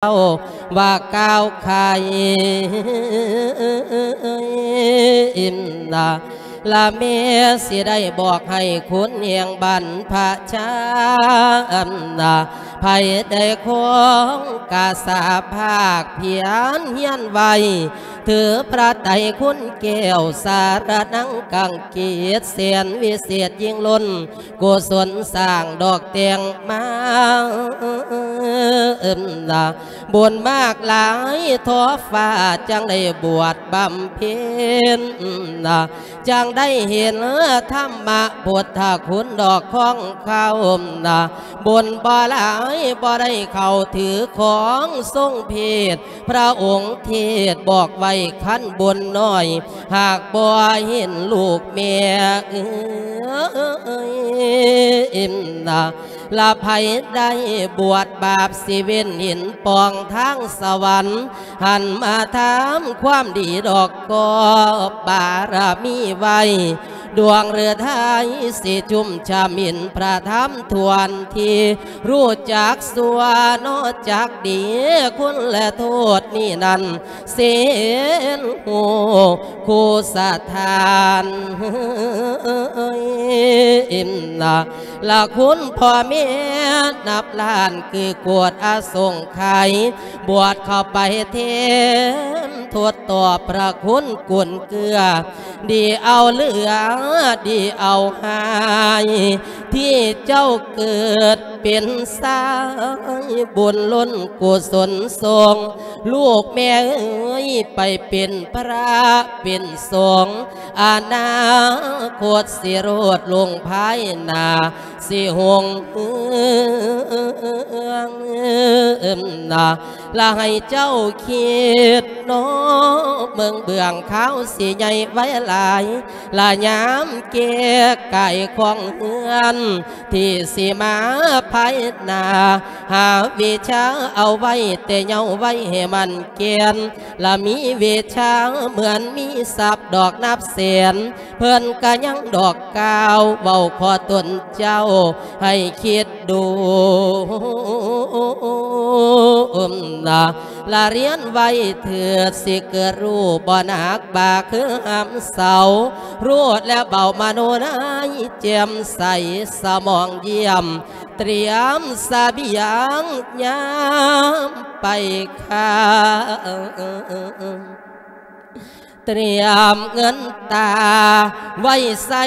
ເຈົ້າວ່າກ່າວໄຂ ລະແມ່ຊິໄດ້ບອກໃຫ້ຄຸນແຫ່ງບັນພະຊາ ໃຜໄດ້ຄອງກະສາພາກພຽນຮຽນໄວ້ ຖືພະໄຕຄຸນແກ້ວສາລະນັງກັງເກດ ແສນວິເສດຍິ່ງລົ້ນ ກຸສົນສ້າງດອກແຕ່ງມາ ບຸນມາກຫຼາຍທໍຟ້າ ຈັ່ງໄດ້ບວດບຳເພັນ ຈັ່ງໄດ້ເຫັນທຳມະພຸດທະຄຸນດອກຂອງເຂົາ ບຸນບໍ່ຫຼາຍບໍ່ໄດ້ເຂົ້າຖືຂອງຊົງເພດ ພະອົງເທດບອກໄວ້ ຄັນບຸນນ້ອຍ ຫາກບໍ່ເຫັນລູກແມ່ເອີຍ ລະໃຜໄດ້ບວດບາບ ຊິເວັ້ນເຫັນປ່ອງທາງສະຫວັນ ຫັນມາທຳຄວາມດີດອກ ກອບບາລະມີໄວ້ ດວງເຮືອໄທຊິຊຸ່ມຊ່ຳ ເຫັນພະທຳຖ້ວນທີ ຮູ້ຈັກຊົ່ວເນາະຈັກດີ ຄຸນແລະໂທດນີ້ນັ້ນ ເຊັ່ນຮູ້ຄູ່ສະຖານ ລະຄຸນພໍ່ແມ່ນັບລ້ານ ຄືກວດອະສົງໄຂ ບວດເຂົ້າໄປແທນ ທົດຕອບພະຄຸນກຸນເກືອ ດີເອົາເຫຼືອ ດີເອົາຫາຍ ທີ່ເຈົ້າເກີດເປັນຊາຍ ບຸນລົ້ນກຸສົນສົ່ງ ລູກແມ່ເອີຍ ໄປເປັນພະເປັນສົງ ອະນາຄົດຊິໂລດລຸ່ງພາຍໜ້າ ຊິຮຸ່ງເຮືອງ ລະໃຫ້ເຈົ້າຄິດເນາະ ເບິ່ງເບື້ອງຂາວຊິໃຫຍ່ໄວຫຼາຍ ລະຍາມແກ່ກາຍຂອງເຮືອນ ທີ່ຊິມາພາຍໜ້າ ຫາວິຊາເອົາໄວ້ແຕ່ເຍົາໄວໃຫ້ໝັ້ນແກ່ນ ລະມີວິຊາເໝືອນມີຊັບດອກນັບແສນ ເພິ່ນກະຍັງດອກກ່າວເວົ້າຂໍຕົນເຈົ້າໃຫ້ຄິດ ໂດມນະ ລະຮຽນໄວ້ເຖີດ ຊິເກີດຮູ້ບໍ່ໜັກບາກຄືຫຳເສົາ ຮູ້ແລ້ວເບົາມະໂນໃນແຈ່ມໃສ ສະໝອງຢ້ຽມ ຕຽມສະບຽງຍາມໄປຄ້າ ຕຽມເງິນຕາໄວ້ໃຊ້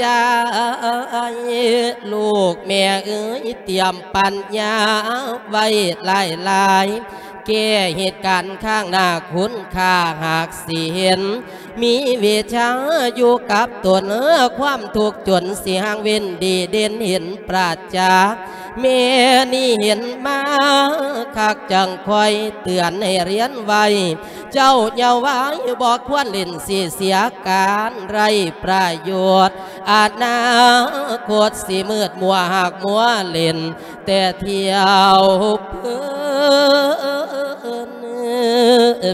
ຈ່າຍ ລູກແມ່ເອີຍ ຕຽມປັນຍາໄວ້ຫຼາຍໆ ແກ້ເຫດການຂ້າງໜ້າ ຄຸນຄ່າຫາກຊິເຫັນ ມີວິຊາຢູ່ກັບຕົນ ຄວາມທຸກຈົນຊິຫ່າງເວັ້ນ ດີເດັ່ນເຫັນປະຈັກ ແມ່ນີ້ເຫັນມາຄັກ ຈັ່ງຄອຍເຕືອນໃຫ້ຮຽນໄວ້ ເຈົ້າເຍົາວາຍບໍ່ຄວນຫຼິ້ນ ຊິເສຍການໄຮ້ປະໂຫຍດ ອະນາຄົດຊິມືດມົວ ຫາກມົວຫຼິ້ນແຕ່ທ່ຽວເພີ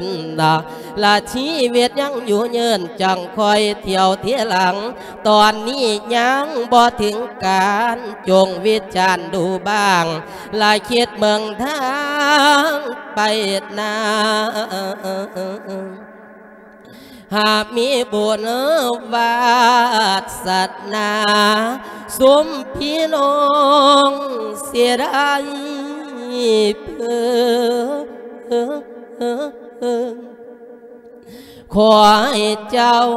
ນນະ ລະຊີວິດຍັງຢູ່ເຍີນ ຈັ່ງຄອຍທ່ຽວທີຫຼັງ ຕອນນີ້ຍັງບໍ່ເຖິງການ ຈົ່ງວິຈານດູບ້າງ ລະຄິດເບິ່ງທາງໄປໜ້າ ຫາກມີບຸນວາສະໜາ ຊຸມພີ່ນ້ອງຊິໄດ້ເພີງ ຂໍໃຫ້ເຈົ້າ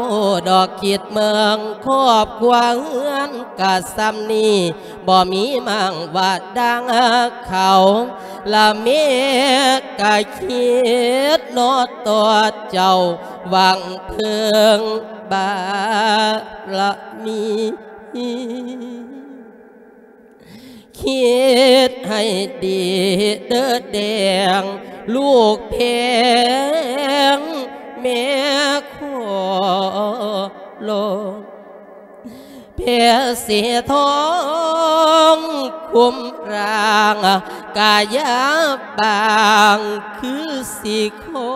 ດອກຄິດເບິ່ງ ຄອບຄົວເຮືອນກະສ່ຳນີ້ ບໍ່ມີໝັ້ງວ່າດັ່ງເຂົາ ລະແມ່ກະຄິດເນາະຕໍ່ເຈົ້າ ຫວັງເພິ່ງບາລະມີ. ຄິດໃຫ້ດີເດີແດງ ລູກແພງແມ່ຂໍລອງ ແພສີທອງຄຸມຮ່າງ ກາຍະບາງຄືສີຂອ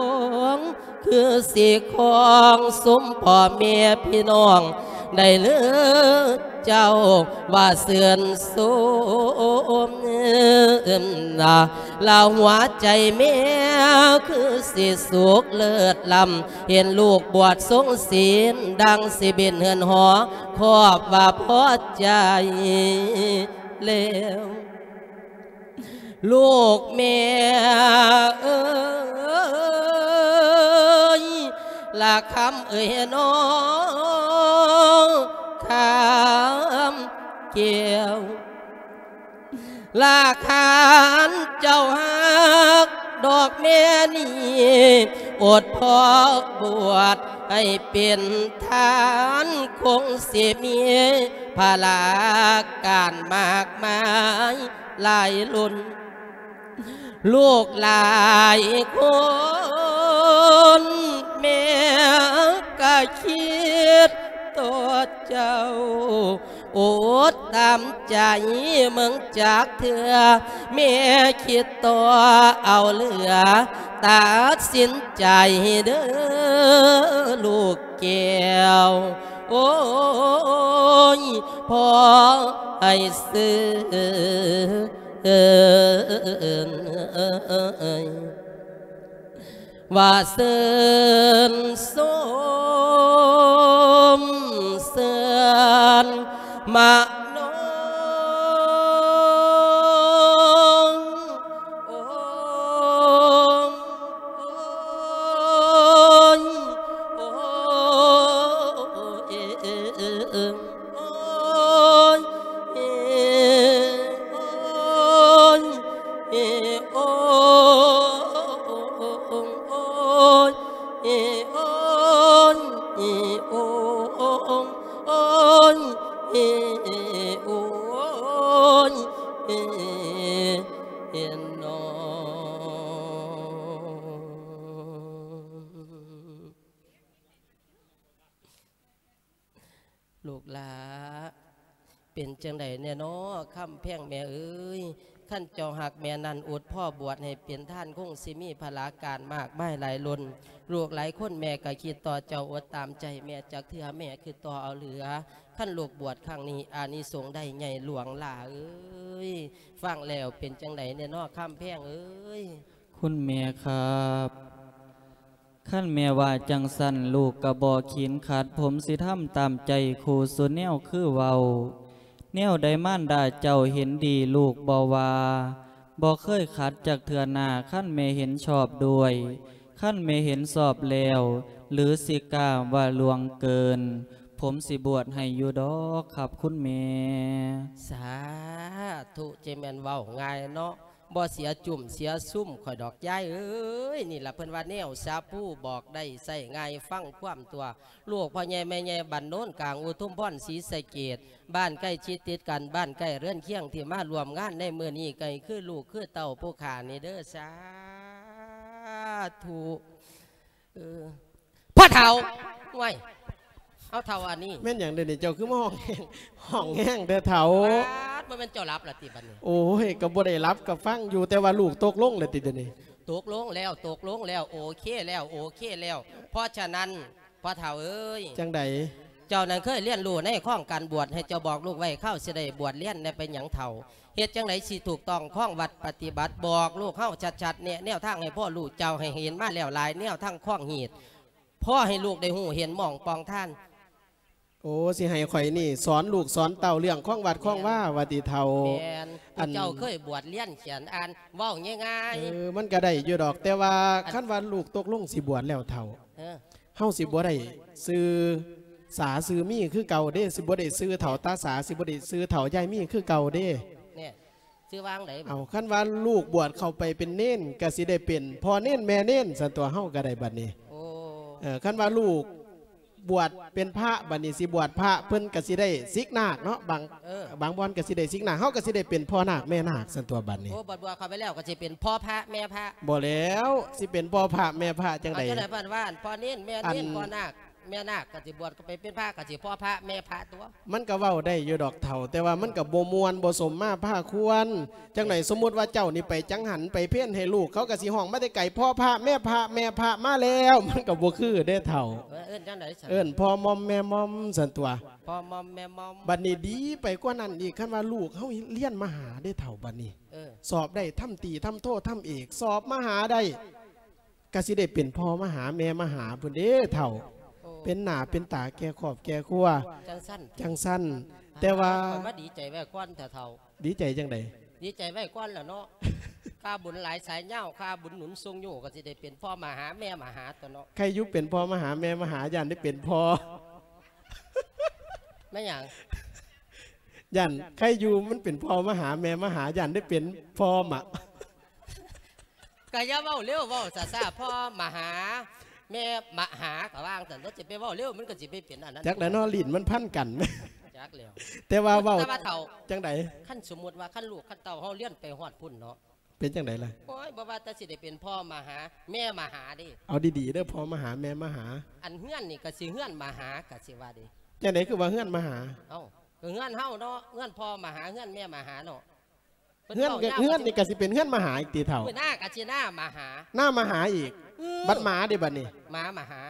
ງ ຄືສີຂອງຊຸມພໍ່ແມ່ພີ່ນ້ອງໄດ້ເລີດ ເຈົ້າວ່າຊື່ນຊົມ ລະຫົວໃຈແມ່ຄືຊິສຸກເລີດລ້ຳ ເຫັນລູກບວດຊົງສິນ ດັ່ງຊິບິນເຮືອນຫໍ ຄອບວ່າພໍໃຈແລ້ວ. ລູກແມ່ເອີຍ ລະຄຳເອີຍນ້ອງຄຳແກ້ວ ລະຄັນເຈົ້າຮັກດອກແມ່ນີ້ ອົດພໍບວດໃຫ້ເປັນທານ ຄົງຊິມີພາລະການມາກມາຍ ຫຼາຍລົ້ນ ລູກຫຼາຍຄົນ ແມ່ກະຄິດຕໍ່ເຈົ້າ ອົດຕາມໃຈເບິ່ງຈັກເທື່ອ ແມ່ຄິດຕໍ່ເອົາເຫຼືອ ຕັດສິນໃຈເດີລູກແກ້ວ ໂອ້ຍ ພໍໃຫ້ຊື່ ເອີ ວ່າຊື່ນຊົມເຊື່ອນມະໂນ ໂອ້ ໂອ້ຍ ໂອ້ຍ ໂອ້ຍ ໂອ້ຍ ໂອ້ຍ ໂອ້ຍ ໂອ້ຍ ໂອ້ຍ ເນາະ. ລູກຫຼ້າ ເປັນຈັ່ງໃດແດ່ນໍ ຄຳແພງແມ່ເອີຍ? ຄັນເຈົ້າຮັກແມ່ນັ້ນ ອົດພໍບວດໃຫ້ເປັນທານ ຄົງຊິມີພາລະການມາກມາຍຫຼາຍລົ້ນ ລູກຫຼາຍຄົນແມ່ກະຄິດຕໍ່ເຈົ້າ ອົດຕາມໃຈແມ່ຈັກເທື່ອ ແມ່ຄິດຕໍ່ເອົາເຫຼືອ. ຄັນລູກບວດຄັ້ງນີ້ ອານິສົງໄດ້ໃຫຍ່ຫຼວງຫຼ້າເອີຍ. ຟັງແລ້ວເປັນຈັ່ງໃດແດ່ນໍ ຄຳແພງເອີຍ? ຄຸນແມ່ຄັບ ຄັນແມ່ວ່າຈັ່ງຊັ້ນ ລູກກະບໍ່ຂີນຂັດ ຜົມຊິທຳຕາມໃຈຄູ່ສູ່ແນວຄືເວົ້າ. ແນວໃດມານດາເຈົ້າເຫັນດີລູກບໍ່ວ່າ ບໍ່ເຄີຍຂັດຈັກເທື່ອນາ ຄັນແມ່ເຫັນຊອບດ້ວຍ. ຄັນແມ່ເຫັນຊອບແລ້ວ ຫຼືຊິກ້າວ່າຫຼວງເກີນ ຜົມຊິບວດໃຫ້ຢູ່ດອກຄັບຄຸນແມ່. ສາທຸ ເຈແມ່ນເວົ້າງ່າຍເນາະ. ບໍ່ເສຍຈຸ້ມເສຍຊຸມຂ້ອຍດອກຍາຍເອີຍ. ນີ້ລະເພິ່ນວ່າແນວສາພູບອກໄດ້ໃຊ້ງ່າຍຟັງຄວາມຕົວະ. ລູກພໍ່ໃຫຍ່ແມ່ໃຫຍ່ບ້ານໂນນກາງ ອຸທຸມພອນ ສີສະເກດ ບ້ານໃກ້ຊິດຕິດກັນ ບ້ານໃກ້ເຮືອນຄຽງ ທີ່ມາຮ່ວມງານໃນມື້ນີ້ ໃກ້ຄືລູກຄືເຕົ້າຜູ້ຂ້ານີ້ເດີ ສາທຸ. ເອີ ພໍ່ເຖົ້າ ໂອ້ຍ ເອົາເຖົ້າອັນນີ້ ແມ່ນຫຍັງເດນີ້ ເຈົ້າຄືມາຮ້ອງແຮງ ຮ້ອງແຮງແທ້ເຖົ້າ? ປາດ ບໍ່ແມ່ນເຈົ້າຫຼັບລະຕິບັດນີ້? ໂອ້ຍ ກໍບໍ່ໄດ້ຫຼັບ ກໍຟັງຢູ່ ແຕ່ວ່າລູກຕົກລົງແລ້ວຕິດຽວນີ້? ຕົກລົງແລ້ວ ຕົກລົງແລ້ວ ໂອເຄແລ້ວ ໂອເຄແລ້ວ. ເພາະສະນັ້ນ ພໍ່ເຖົ້າເອີຍ ຈັ່ງໃດ? ເຈົ້ານັ້ນເຄີຍຮຽນຮູ້ໃນຄອງການບວດ ໃຫ້ເຈົ້າບອກລູກໄວ້ ຄາວຊິໄດ້ບວດຮຽນແດ່ ເປັນຫຍັງເຖົ້າ? ເຮັດຈັ່ງໃດຊິຖືກຕ້ອງຄອງວັດປະຕິບັດ ບອກລູກເຮົາຊັດໆ ແນະແນວທາງໃຫ້ພໍ່ລູກເຈົ້າ ໃຫ້ເຫັນມາແລ້ວຫຼາຍແນວທາງຄອງຮີດ ພໍໃຫ້ລູກໄດ້ຮູ້ເຫັນໝ່ອງປ່ອງທາງ. ໂອ້ ຊິໃຫ້ຂ້ອຍນີ້ສອນລູກສອນເຕົ້າເລື່ອງຄອງວັດຄອງວາວ່າຕິເຖົ້າ? ແມ່ນ ອັນ ເຈົ້າເຄີຍບວດຮຽນຂຽນອ່ານ ເວົ້າງ່າຍໆ. ເອີ ມັນກະໄດ້ຢູ່ດອກ ແຕ່ວ່າ ອັນ ຄັນວ່າລູກຕົກລົງຊິບວດແລ້ວເຖົ້າ ເອີ ເຮົາຊິບໍ່ໄດ້ຊື່ສາຊື່ມີຄືເກົ່າເດ້ ຊິບໍ່ໄດ້ຊື່ເຖົ້າຕາສາ ຊິບໍ່ໄດ້ຊື່ເຖົ້າຍາຍມີຄືເກົ່າເດ້. ແນ່ ຊື່ວ່າຈັ່ງໃດ? ເອົາ ຄັນວ່າລູກບວດເຂົ້າໄປເປັນເນນ ກະຊິໄດ້ເປັນພໍ່ເນນແມ່ເນນ ຊັ້ນຕົວະ ເຮົາກະໄດ້ບັດນີ້. ໂອ້ ເອີ ຄັນວ່າລູກບວດເປັນພະ ບັດນີ້ຊິບວດພະ ເພິ່ນກະຊິໄດ້ສິກນາກເນາະ ບາງ ເອີ ບາງບ່ອນກະຊິໄດ້ສິກນາກ ເຮົາກະຊິໄດ້ເປັນພໍ່ນາກແມ່ນາກ ຊັ້ນຕົວະ ບັດນີ້. ໂອ້ ບວດ ບວດເຂົ້າໄປແລ້ວກະຊິເປັນພໍ່ພະແມ່ພະ. ບໍ່ແລ້ວ ຊິເປັນພໍ່ພະແມ່ພະຈັ່ງໃດ? ເອົາ ຈັ່ງໃດ ເພິ່ນວ່າ ພໍ່ເນນແມ່ເນນ ອັນ ພໍ່ນາກ ແມ່ນາກກະຊິບວດ ກະໄປເປັນພະ ກະຊິພໍ່ພະແມ່ພະຕົວະ. ມັນກະເວົ້າໄດ້ຢູ່ດອກເຖົ້າ ແຕ່ວ່າມັນກະບໍ່ມ່ວນບໍ່ສົມມາພາຄວນ. ຈັ່ງໃດ ສົມມຸດວ່າເຈົ້ານີ້ໄປຈັງຫັນໄປເພນໃຫ້ລູກ ເຂົາກະຊິຮ້ອງມາແຕ່ໄກ ພໍ່ພະແມ່ພະ ແມ່ພະມາແລ້ວ ມັນກະບໍ່ຄືເດ້ເຖົ້າ. ເອີ້ນຈັ່ງໃດຊັ້ນ? ເອີ້ນພໍ່ມອມແມ່ມອມ ຊັ້ນຕົວະ. ພໍ່ມອມແມ່ມອມ ບັດນີ້ດີໄປກວ່ານັ້ນອີກ ຄັນວ່າລູກເຮົາຮຽນມະຫາເດ້ເຖົ້າ ບັດນີ້ ເອີ ສອບໄດ້ທຳຕີ ທຳໂທ ທຳເອກ ສອບມະຫາໄດ້ ກະຊິໄດ້ເປັນພໍ່ມະຫາແມ່ມະຫາພຸ້ນເດ້ເຖົ້າ ໂອ້ ເປັນໜ້າເປັນຕາແກ່ຄອບແກ່ຄົວ ຈັ່ງຊັ້ນ ຈັ່ງຊັ້ນ ແຕ່ວ່າ ຂ້ອຍມາດີໃຈໄວ້ກ່ອນເຖາະເຖົ້າ ດີໃຈຈັ່ງໃດ? ດີໃຈໄວ້ກ່ອນແຫຼະເນາະ ຄ່າບຸນຫຼາຍສາຍຍາວ ຄ່າບຸນໜູນຊົງໂຍ ກໍຊິໄດ້ເປັນພໍ່ມະຫາແມ່ມະຫາຕົວະເນາະ ໃຄຢູ່ເປັນພໍ່ມະຫາແມ່ມະຫາ ຢ້ານໄດ້ເປັນພໍ່ ແມ່ນຫຍັງ? ຢ້ານໃຄຢູ່ມັນເປັນພໍ່ມະຫາແມ່ມະຫາ ຢ້ານໄດ້ເປັນພໍ່ມະ ກໍຢ່າເວົ້າເລັວ ເວົ້າຊ້າໆ ພໍ່ມະຫາ ແມ່ມະຫາ ກໍວ່າຈັ່ງຊັ້ນ ເຮົາຊິໄປເວົ້າເລັວ ມັນກໍຊິໄປເປັນອັນນັ້ນ ຈັກແຫຼະເນາະ ລີ້ນມັນພັນກັນ ຈັກແລ້ວ ແຕ່ວ່າເວົ້າ ແຕ່ວ່າເຖົ້າ ຈັ່ງໃດ? ຄັນສົມມຸດວ່າ ຄັນລູກຄັນເຕົ້າເຮົາຮຽນໄປຮອດພຸ້ນເນາະ ເປັນຈັ່ງໃດລະ? ໂອ້ຍ ບໍ່ວ່າແຕ່ຊິໄດ້ເປັນພໍ່ມະຫາ ແມ່ມະຫາເດ້ ເອົາດີໆເດີ ພໍ່ມະຫາແມ່ມະຫາ ອັນເຮືອນນີ້ກໍຊິເຮືອນມະຫາ ກໍຊິວ່າເດ້ ຈັ່ງໃດຄືວ່າເຮືອນມະຫາ? ເອົ້າ ກໍເຮືອນເຮົາເນາະ ເຮືອນພໍ່ມະຫາ ເຮືອນແມ່ມະຫາເນາະ ເຮືອນ ເພິ່ນເວົ້າຍາວ ເຮືອນນີ້ກໍຊິເປັນເຮືອນມະຫາອີກຕິເຖົ້າ ເອີ ໜ້າກໍຊິໜ້າມະຫາ ໜ້າມະຫາອີກ ເອີ ບັດໝາເດ້ບັດນີ້ ໝາມະຫາ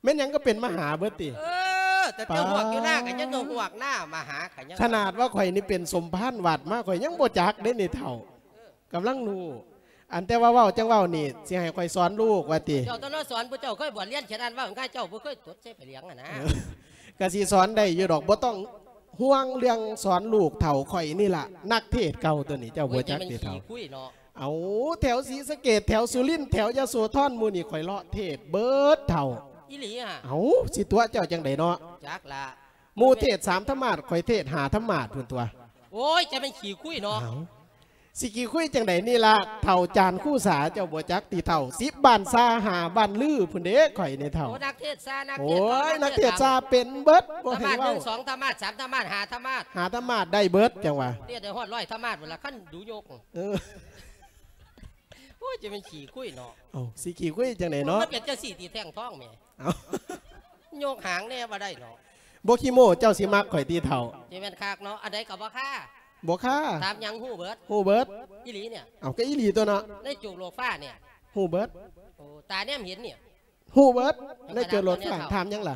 ແມ່ນຫຍັງກໍເປັນມະຫາເບິດຕິ ເອີ ແຕ່ ປາດ ແຕ່ຮວກຢູ່ໜ້າກໍຍັງຮວກ ໜ້າມະຫາກໍຍັງ ຂະໜາດວ່າຂ້ອຍນີ້ເປັນສົມພານວັດມາ ຂ້ອຍຍັງບໍ່ຈັກເດ້ນີ້ເຖົ້າ ເອີ ກຳລັງຮູ້ ອັນແຕ່ວ່າເວົ້າຈັ່ງເວົ້ານີ້ ຊິໃຫ້ຂ້ອຍສອນລູກວ່າຕິ ເຈົ້າຕ້ອງສອນ ຜູ້ເຈົ້າເຄີຍບວດຮຽນຂະໜາດເວົ້າງ່າຍ ເຈົ້າບໍ່ເຄີຍຕົດໃສ່ໃບຫຼຽງຫັ້ນນະ ເອີ ກະຊິສອນໄດ້ຢູ່ດອກ ບໍ່ຕ້ອງຫ່ວງເລື່ອງສອນລູກເຖົ້າ ຂ້ອຍນີ້ລະນັກເທດເກົ່າຕົວນີ້ ເຈົ້າບໍ່ຈັກຕິເຖົ້າ ໂອ້ຍ ແຕ່ມັນຂີ້ຄຸຍເນາະ ເອົາ ແຖວສີສະເກດ ແຖວສຸລິນ ແຖວຍະໂສທອນ ໝູ່ນີ້ຂ້ອຍເລາະເທດເບິດເຖົ້າ ອີ່ຫຼີຫະ ເອົາ ຊິຕົວະເຈົ້າຈັ່ງໃດເນາະ ຈັກລະ ໝູ່ເທດສາມທຳມາດ ຂ້ອຍເທດຫ້າທຳມາດພຸ້ນຕົວະ ໂອ້ຍ ຈະແມ່ນຂີ້ຄຸຍເນາະ ເອົາ ຊິຂີ້ຄຸຍຈັ່ງໃດນີ້ລະ ເຖົ້າຈານຄູສາ ເຈົ້າບໍ່ຈັກຕິເຖົ້າ ສິບບ້ານຊາຫ້າບ້ານລືພຸ້ນເດ້ ຂ້ອຍນີ້ເຖົ້າ ໂອ້ ນັກເທດສາ ນັກເທດສາ ໂອ້ຍ ນັກເທດສາເປັນເບິດ ບໍ່ໃຫ້ເວົ້າ ທຳມາດໜຶ່ງ ສອງທຳມາດ ສາມທຳມາດ ຫ້າທຳມາດ ຫ້າທຳມາດໄດ້ເບິດ ຈັ່ງວ່າ ເທດໄດ້ຮອດຮ້ອຍທຳມາດພຸ້ນລະ ຄັນດູຍົກ ເອີ ໂອ້ຍ ຈະແມ່ນຂີ້ຄຸຍເນາະ ເອົ້າ ຊິຂີ້ຄຸຍຈັ່ງໃດເນາະ ມັນເປັນຈັ່ງຊີ້ຕິແທ່ງທອງແໝ ເອົ້າ ຍົກຫາງແດ່ບໍ່ໄດ້ເນາະ ບໍ່ຂີ້ໂມ້ ເຈົ້າຊິມັກຂ້ອຍຕິເຖົ້າ ຈະແມ່ນຄັກເນາະ ອັນໃດກໍບໍ່ຄາ ບໍ່ຄາ ຖາມຫຍັງຮູ້ເບິດ ຮູ້ເບິດ ອີ່ຫຼີນີ້ ເອົ້າ ກໍອີ່ຫຼີຕົວະເນາະ ໃນໂຈກໂລກຟ້ານີ້ ຮູ້ເບິດ ໂອ້ ຕາແນມເຫັນນີ້ ຮູ້ເບິດ ໃນໂຈກໂລກຟ້າ ຖາມຫຍັງລະ?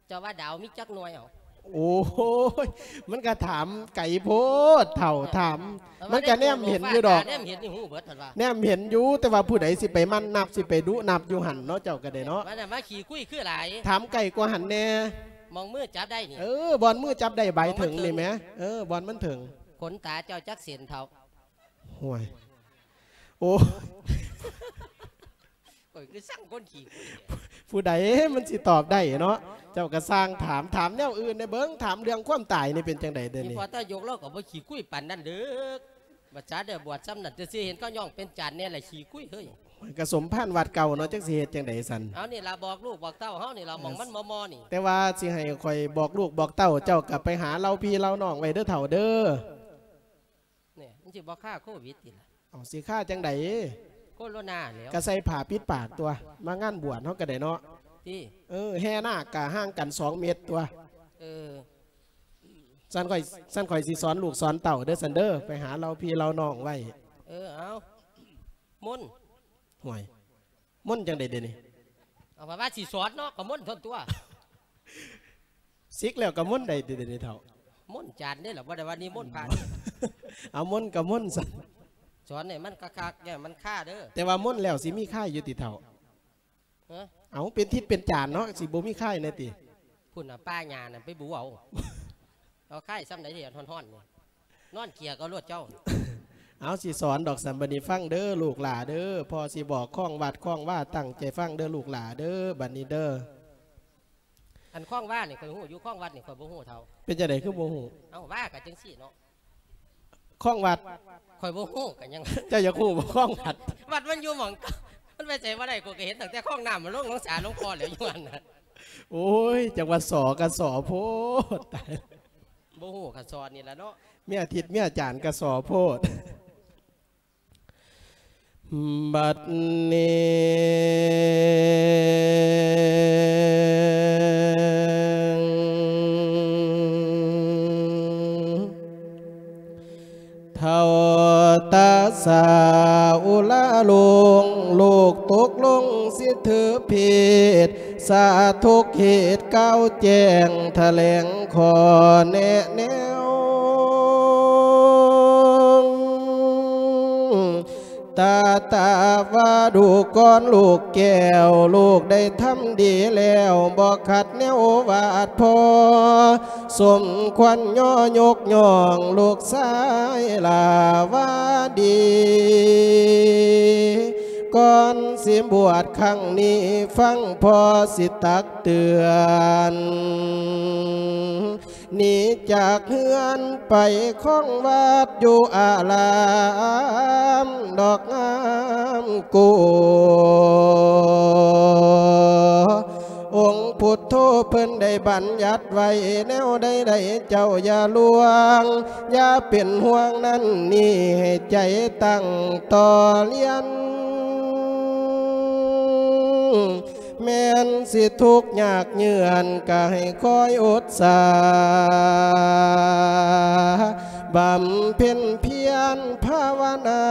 ເຈົ້າວ່າດາວມີຈັກໜ່ວຍເອົາ ໂອ້ຍ ມັນກະຖາມໄກໂພດເຖົ້າ ເອີ ຖາມ ມັນກະແນມເຫັນຢູ່ດອກ ຕາແນມເຫັນນີ້ຮູ້ເບິດຫັ້ນວ່າ ແນມເຫັນຢູ່ ແຕ່ວ່າຜູ້ໃດຊິໄປໝັ່ນນັບ ຊິໄປດຸນັບຢູ່ຫັ້ນເນາະ ເຈົ້າກະໄດ້ເນາະ ວ່າແນມວ່າຂີ້ຄຸຍຄືຫຼາຍ ຖາມໄກກວ່າຫັ້ນແດ່ ໝ່ອງມືຈັບໄດ້ນີ້ ເອີ ບ່ອນມືຈັບໄດ້ ໃບເຖິງນີ້ແໝ ເອີ ບ່ອນມັນເຖິງ ຂົນຕາເຈົ້າຈັກເສັ້ນເຖົ້າ ໂອ້ຍ ໂອ້ ຂ້ອຍຄືຊັງຄົນຂີ້ຄຸຍແທ້ ຜູ້ໃດມັນຊິຕອບໄດ້ເນາະ ເຈົ້າກໍຊ່າງຖາມ ຖາມແນວອື່ນແດ່ເບິ່ງ ຖາມເລື່ອງຄວາມຕາຍນີ້ເປັນຈັ່ງໃດເດນີ້ ນີ້ພໍຕາຍົກລາວກໍບໍ່ຂີ້ຄຸຍປານນັ້ນເດີ ບັດຊາໄດ້ບວດຊ່ຳນັ້ນ ແຕ່ຊິເຫັນເຂົາຍ້ອງເປັນຈານແດ່ລະຂີ້ຄຸຍເຮີ້ຍ ກໍສົມພານວັດເກົ່າເນາະ ຈັກຊິເຮັດຈັ່ງໃດຊັ້ນ ເອົານີ້ລະ ບອກລູກບອກເຕົ້າເຮົານີ້ລະ ໝ່ອງມັນມໍ່ໆນີ້ ແຕ່ວ່າຊິໃຫ້ຂ້ອຍບອກລູກບອກເຕົ້າ ເຈົ້າກໍໄປຫາເລົ່າພີ່ເລົ່ານ້ອງໄວ້ເດີເຖົ້າເດີ. ນີ້ມັນຊິບໍ່ຄາໂຄວິດຕິລະ ເອົາ ຊິຄາຈັ່ງໃດ ໂຄໂຣນາແລ້ວ ກະໃສ່ຜ້າປິດປາກຕົວະ ມາງານບວດເຮົາກະໄດ້ເນາະ ຕິ ເອີ ແຫ່ນາກກະຫ່າງກັນສອງເມັດຕົວະ ເອີ ຊັ້ນຂ້ອຍ ຊັ້ນຂ້ອຍຊິສອນລູກສອນເຕົ້າເດີຊັ້ນເດີ ໄປຫາເລົ່າພີ່ເລົ່ານ້ອງໄວ້ ເອີ ເອົາ ມົນ ຫ້ວຍ ມົນຈັ່ງໃດເດນີ້ ເອົາວ່າ ວ່າຊິສອນເນາະ ກໍມົນທົ່ນຕົວະ ສິກແລ້ວກໍມົນໄດ້ຕິເດນີ້ເຖົ້າ ມົນຈານເດ້ລະ ບໍ່ໄດ້ວ່ານິມົນພະເດ້ ເອົາມົນກໍມົນຊັ້ນ ສອນໃຫ້ມັນຄັກໆ ຢ່າໃຫ້ມັນຄາເດີ ແຕ່ວ່າມົນແລ້ວຊິມີຄາຍຢູ່ຕິເຖົ້າ ຮະ ເອົາ ເປັນທິດເປັນຈານເນາະ ຊິບໍ່ມີຄາຍແດ່ຕິ ພຸ້ນນະ ປ່າຫຍ້ານັ້ນໄປບູເອົາ ເອົາຄາຍຊ່ຳໃດທີ່ຮ້ອນໆນີ້ ນອນເກ່ຍເອົາໂລດເຈົ້າ ເອົາ ຊິສອນດອກ ຊັ້ນບັດນີ້ຟັງເດີລູກຫຼ້າເດີ ພໍ່ຊິບອກຄອງວັດຄອງວາ ຕັ້ງໃຈຟັງເດີລູກຫຼ້າເດີ ບັດນີ້ເດີ ອັນຄອງວານີ້ຂ້ອຍຮູ້ຢູ່ ຄອງວັດນີ້ຂ້ອຍບໍ່ຮູ້ເຖົ້າ ເປັນຈັ່ງໃດຄືບໍ່ຮູ້ ເອົ້າ ວາກໍຈັ່ງຊີ້ເນາະ ຄອງວັດ ຂ້ອຍບໍ່ຮູ້ກໍຍັງ ເຈົ້າຢາກຮູ້ບໍ່ຄອງວັດ ວັດມັນຢູ່ໝ່ອງເກົ່າ ມັນໄປໃສບໍ່ໄດ້ ຂ້ອຍກໍເຫັນຕັ້ງແຕ່ຄອງນ້ຳມັນລົງໜອງສາຫຼວງພໍ່ແລ້ວ ຢູ່ຫັ້ນນະ ໂອ້ຍ ຈັກວ່າສໍກໍສໍໂພດ ຕາຍ ບໍ່ຮູ້ກໍສອນນີ້ລະເນາະ ເມຍທິດເມຍຈານກໍສໍໂພດ ບັດນີ້ເຖົ້າຕາ ສາອຸລາລົງ ລູກຕົກລົງສິຖືເພດ ສາທຸກເຂດກ່າວແຈ້ງ ຖະແຫຼງຂໍ້ແນະແນວ ຕາຕາວ່າດູກ່ອນລູກແກ້ວ ລູກໄດ້ທຳດີແລ້ວ ບໍ່ຂັດແນວວາດພໍ່ ສົມຄວນຍໍຍົກຍ້ອງລູກຊາຍຫຼ້າວ່າດີ ກ່ອນຊິບວດຄັ້ງນີ້ ຟັງພໍ່ຊິຕັກເຕືອນ ໜີຈາກເຮືອນໄປຄອງວັດຢູ່ອາລາມດອກງາມກູ ອົງພຸດໂທເພິ່ນໄດ້ບັນຍັດໄວ້ແນວໃດໃດ ເຈົ້າຢ່າລວງ ຢ່າເປັນຫ່ວງນັ້ນນີ້ ໃຫ້ໃຈຕັ້ງຕໍ່ລຽນ ແມ່ນຊິທຸກຍາກເຫຍື້ອນ ກະໃຫ້ຄອຍອົດສາ ບຳເພັນພຽນພາວະນາ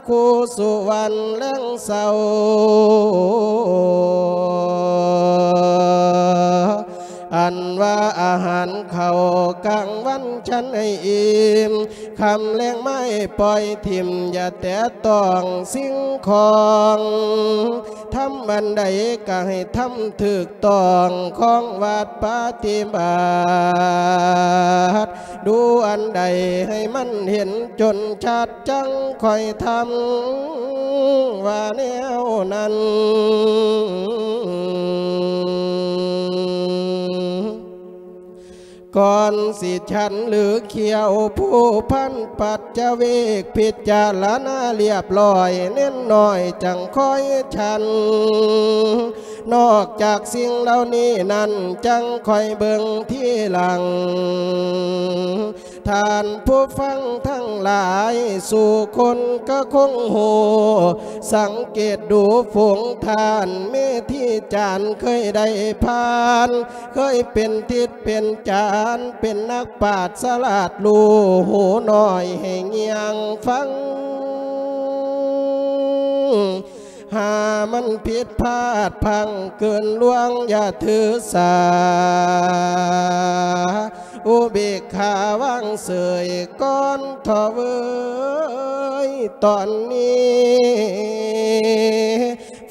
ຄູ່ສູ່ວັນແລງເຊົ້າ ອັນວ່າອາຫານເຂົ້າກາງວັນ ສັນໃຫ້ອີ່ມ ຄ່ຳແລງມາໃຫ້ປ່ອຍຖິ້ມ ຢ່າແຕະຕ້ອງສິ່ງຂອງ ທຳອັນໃດກະໃຫ້ທຳຖືກຕ້ອງ ຄອງວັດປະຕິບັດ ດູອັນໃດໃຫ້ມັນເຫັນຈົນຊັດ ຈັ່ງຄ່ອຍທຳ ວ່າແນວນັ້ນ ກ່ອນຊິສັນຫຼືຂຽວ ຜູ້ພັນປັດຈະເວກ ພິຈາລະນາລຽບລ້ອຍ ເນັ້ນໜ້ອຍຈັ່ງຄ່ອຍສັນ ນອກຈາກສິ່ງເຫຼົ່ານີ້ນັ້ນ ຈັ່ງຄ່ອຍເບິ່ງທີຫຼັງ ທ່ານຜູ້ຟັງທັງຫຼາຍ ສູ່ຄົນກະຄົງຮູ້ ສັງເກດດູຝູງທ່ານ ເມທີຈານເຄີຍໄດ້ຜ່ານ ເຄີຍເປັນທິດເປັນຈານ ເປັນນັກປາດສະຫຼາດ ຮູ້ຫູໜ້ອຍໃຫ້ງຽງຟັງ ຫາມັນຜິດພາດພັງເກີນລ່ວງຢ່າຖືສາ ອຸເບກຂາວາງເສີຍກ່ອນເທາະເວີຍຕອນນີ້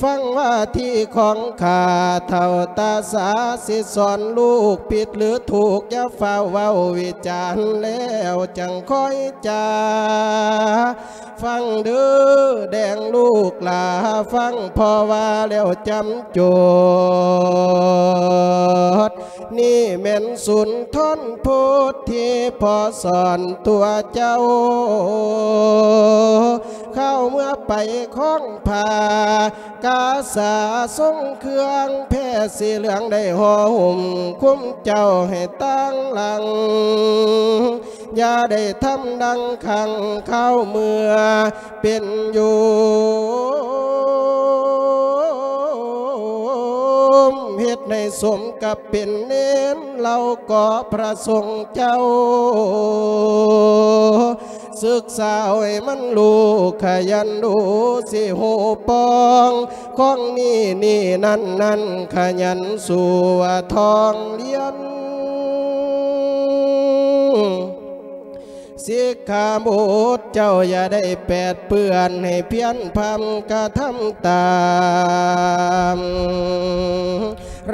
ຟັງວ່າທີຂອງຂ້າເຖົ້າຕາສາ ຊິສອນລູກຜິດຫຼືຖືກ ຢ່າຟ້າວເວົ້າວິຈານ ແລ້ວຈັ່ງຄ່ອຍຈາ ຟັງເດີແດງລູກຫຼ້າ ຟັງພໍ່ວ່າແລ້ວຈຳຈົດ ນີ້ແມ່ນສຸນທອນໂພດທີ່ພໍ່ສອນຕົວເຈົ້າ ຄາວເມື່ອໄປຄອງຜ້າ ກາສາຊົງເຄື່ອງແພສີເຫຼືອງ ໄດ້ຫໍ່ຫຸ້ມຄຸມເຈົ້າໃຫ້ຕາງຫຼັງ ຢ່າໄດ້ທຳດັງຄັ້ງຄາວເມື່ອເປັນໂຍມ ເຮັດໃຫ້ສົມກັບເປັນເນນ ເຫຼົ່າກໍພະສົງເຈົ້າ ສຶກສາໃຫ້ມັນຮູ້ຂະຫຍັນດູ ຊິຮູ້ປ່ອງ ຂອງນີ້ນີ້ນັ້ນນັ້ນ ຂະຫຍັນສູ້ວ່າທ່ອງລຽນ ສິກຂາບົດເຈົ້າຢ່າໄດ້ແປດເປື້ອນ ໃຫ້ພຽນພຳກະທຳຕາມ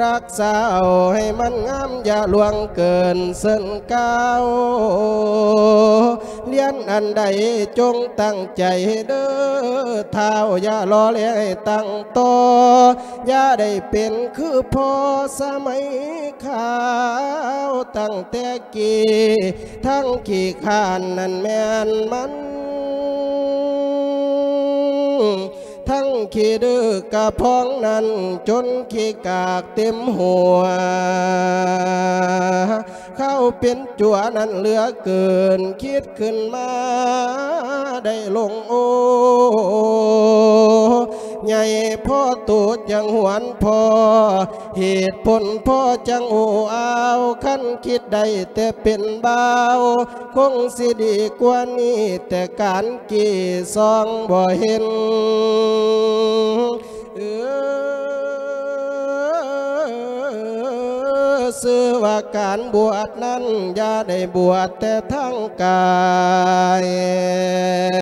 ຮັກສາເອົາໃຫ້ມັນງາມ ຢ່າລ່ວງເກີນເຊີນກ້າວ ລຽນອັນໃດຈົ່ງຕັ້ງໃຈເດີທ້າວ ຢ່າລໍແລໃຫ້ຕັ້ງຕໍ່ ຢ່າໄດ້ເປັນຄືພໍ່ສະໄໝຄາວ ຕັ້ງແຕ່ກີ້ທັງຂີ້ຄ້ານນັ້ນແມ່ນມັນ ທັງຂີ້ດື້ກະພອງນັ້ນ ຈົນຂີ້ກາກເຕັມຫົວ ເຂົາເປັນຈົວນັ້ນເຫຼືອເກີນ ຄິດຂຶ້ນມາໄດ້ລົງໂອ ໃຫຍ່ພໍໂຕຈັ່ງຫວນພໍ ເຫດຜົນພໍຈັ່ງໂອ້ອາວ ຄັນຄິດໄດ້ແຕ່ເປັນບ່າວ ຄົງຊິດີກວ່ານີ້ ແຕ່ການກີ້ຊອງບໍ່ເຫັນ ເອີ ຊື່ວ່າການບວດນັ້ນ ຢ່າໄດ້ບວດແຕ່ທາງກາຍ.